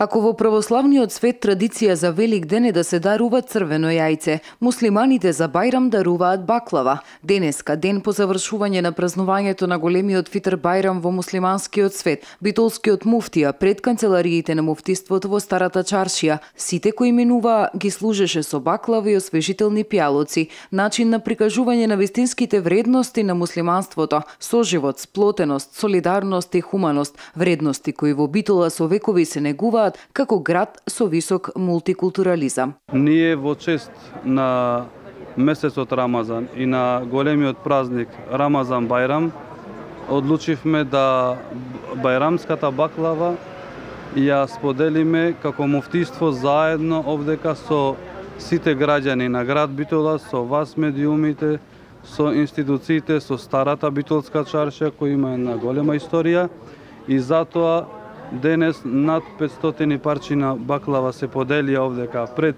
Ако во православниот свет традиција за Велик ден е да се дарува црвено јајце, муслиманите за Бајрам даруваат баклава. Денеска, ден по завршување на празнувањето на големиот фитр Бајрам во муслиманскиот свет, битолскиот муфтија пред канцелариите на муфтиството во Старата Чаршија, сите кои минуваа ги служеше со баклава и освежителни пијалоци, начин на прикажување на вистинските вредности на муслиманството, соживот, сплотеност, солидарност и хуманост, вредности кои во Битола со векови се негуваат како град со висок мултикултурализам. Ние во чест на месецот Рамазан и на големиот празник Рамазан Бајрам одлучивме да бајрамската баклава ја споделиме како муфтиство заедно овдека со сите граѓани на град Битола, со вас медиумите, со институциите, со Старата Битолска чаршија која има една голема историја и затоа денес над 500 парчина баклава се поделија овдека пред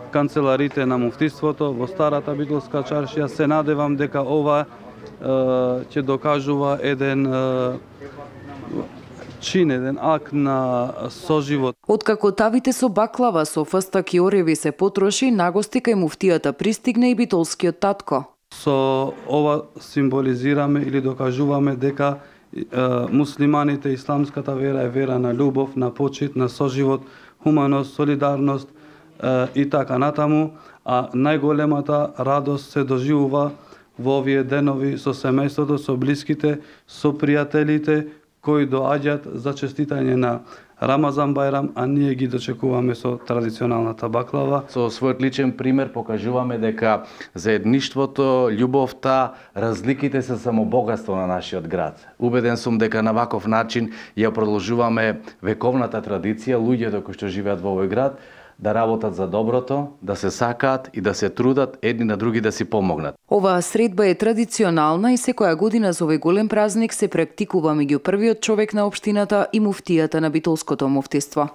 канцеларите на муфтиството во Старата Битолска чаршија. Се надевам дека ова ќе докажува еден чин, еден акт на соживот. Откако тавите со баклава со фстак и ореви се потроши, нагости кај муфтијата пристигне и битолскиот татко. Со ова символизираме или докажуваме дека муслиманите, исламската вера е вера на љубов, на почит, на соживот, хуманост, солидарност и така натаму, а најголемата радост се доживува во овие денови со семејството, со блиските, со пријателите кои доаѓаат за честитање на Рамазан Бајрам, а ние ги дочекуваме со традиционалната баклава. Со својот личен пример покажуваме дека заедништвото, љубовта, разликите се само богатство на нашиот град. Убеден сум дека на ваков начин ја продолжуваме вековната традиција, луѓето кои што живеат во овој град, да работат за доброто, да се сакаат и да се трудат едни на други да си помогнат. Оваа средба е традиционална и секоја година за овој голем празник се практикува меѓу првиот човек на општината и муфтијата на Битолското муфтиство.